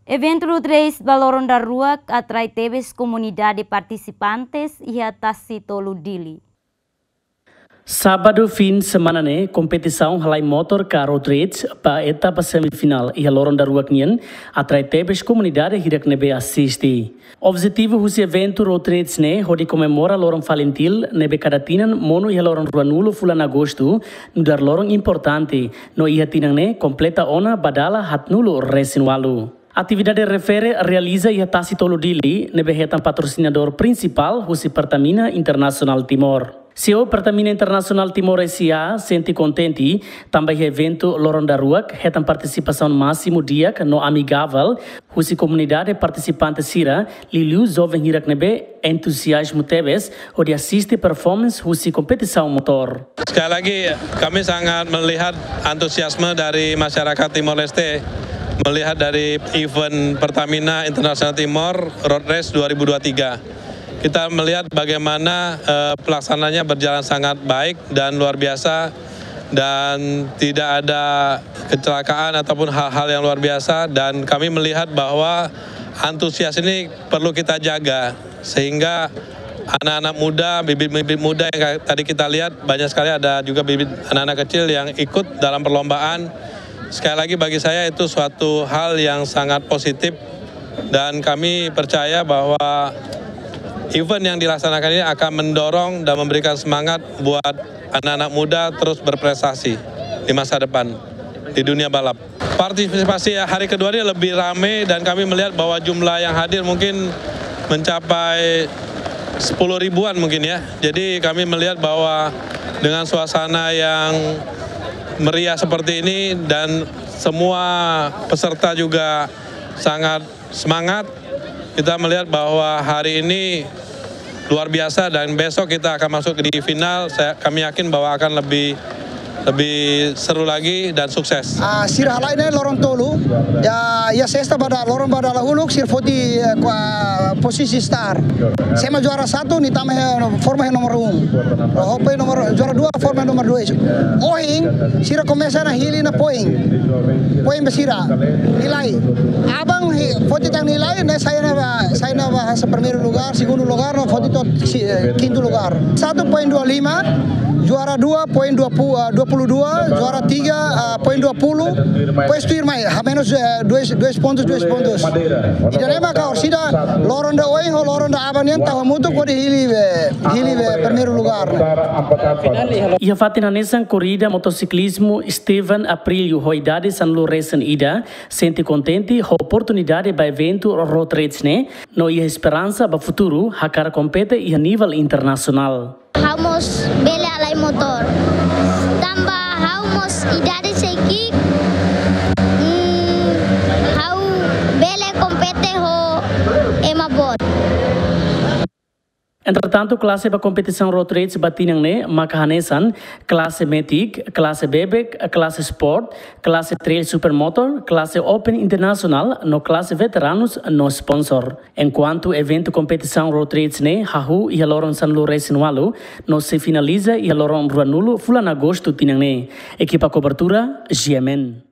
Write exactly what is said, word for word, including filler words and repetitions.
Eventu road race ba loron daruak atrai tebes komunidade partisipantes iha Tasitolu, Dili. Sábadu fin semana ne'e, kompetisaun halai motor ka road race ba etapa semifinál iha loron daruak nian atrai tebes komunidade hirak ne'ebé asiste. Objetivu husi eventu road race ne'e hodi komemora loron FALINTIL ne'ebé kada tinan monu iha loron ruanulu fulan Agostu, nu'udar loron importante, no iha tinan ne'e kompleta ona ba dala haatnulu resin walu. Atividade refere realiza iha Tasitolu, Dili, ne'ebé hetan patrosinadór prinsipál husi Pertamina Internasionál Timor. CEO Pertamina Internasionál Timor S A sente kontente tanba iha eventu loron daruak hetan partisipasaun másimu di'ak no amigavel husi komunidade partisipante sira, liuliu joven hirak ne'ebé entuziazmu tebes hodi asiste performance husi kompetisaun motor. Sekali lagi, kami sangat melihat antusiasme dari masyarakat Timor Leste melihat dari event Pertamina Internasionál Timor Road Race dua ribu dua puluh tiga. Kita melihat bagaimana, eh, pelaksanaannya berjalan sangat baik dan luar biasa, dan tidak ada kecelakaan ataupun hal-hal yang luar biasa, dan kami melihat bahwa antusias ini perlu kita jaga, sehingga anak-anak muda, bibit-bibit muda yang ka-, tadi kita lihat, banyak sekali, ada juga bibit anak-anak kecil yang ikut dalam perlombaan. Sekali lagi, bagi saya itu suatu hal yang sangat positif, dan kami percaya bahwa event yang dilaksanakan ini akan mendorong dan memberikan semangat buat anak-anak muda terus berprestasi di masa depan di dunia balap. Partisipasi hari kedua ini lebih ramai dan kami melihat bahwa jumlah yang hadir mungkin mencapai sepuluh ribuan mungkin, ya. Jadi, kami melihat bahwa dengan suasana yang meriah seperti ini dan semua peserta juga sangat semangat, kita melihat bahwa hari ini luar biasa dan besok kita akan masuk di final. Saya, kami yakin bahwa akan lebih, lebih seru lagi dan sukses. Ah, sira halai ne'e loron tolu. Ya, ya sesta ba da-, loron ba dahuluk sira foti, eh, kua-, posisi start. Sira ema juara satu nia tama iha, forma iha nomor um. Ho poin nomor, juara dua forma nomor dua. Ohin sira komesa ona hili ona poin. Poin ba sira. Nilai. Aban hi-, foti tan nilai, ne'e sai ona ba, sai ona ba hanesan primeiru lugar, segundu lugar, no foti to'o si-, eh, kintu lugar. Satu poin dua lima, juara dua poin dua puluh, eh, dua puluh dua, juara tiga, eh, poin dua puluh, pois tuirmai, hamenus, eh, dois, dois pontos, dois pontos. Ida-ne'e maka orsida loron ida ohin ho loron ida aban nian tau hamutuk hodi hili be, hili be primeiru lugar. Iha fatin hanesan, korida motosiklismu Steven Aprilio ho idade sanulu resin ida sente kontente ho oportunidade ba eventu road race ne'e, no iha esperansa ba futuru hakarak kompete iha nivel internasionál. Ha'u mós bele halai motor. Tanba ha'u mós idade sei ki'ik, mm, ha'u bele kompete ho ema boot. Entretantu, klase ba kompetisaun road race ba tinan ne'e maka hanesan klase Matic, klase Bebek, klase Sport, klase Trail Supermoto, klase Open Internasionál, no klase veteranus no sponsor. Enkuantu eventu kompetisaun road race ne'e hahú iha loron sanulu resin walu, no sei finaliza iha loron ruanulu fulan Agostu tinan ne'e. Ekipa kobertura, G M N.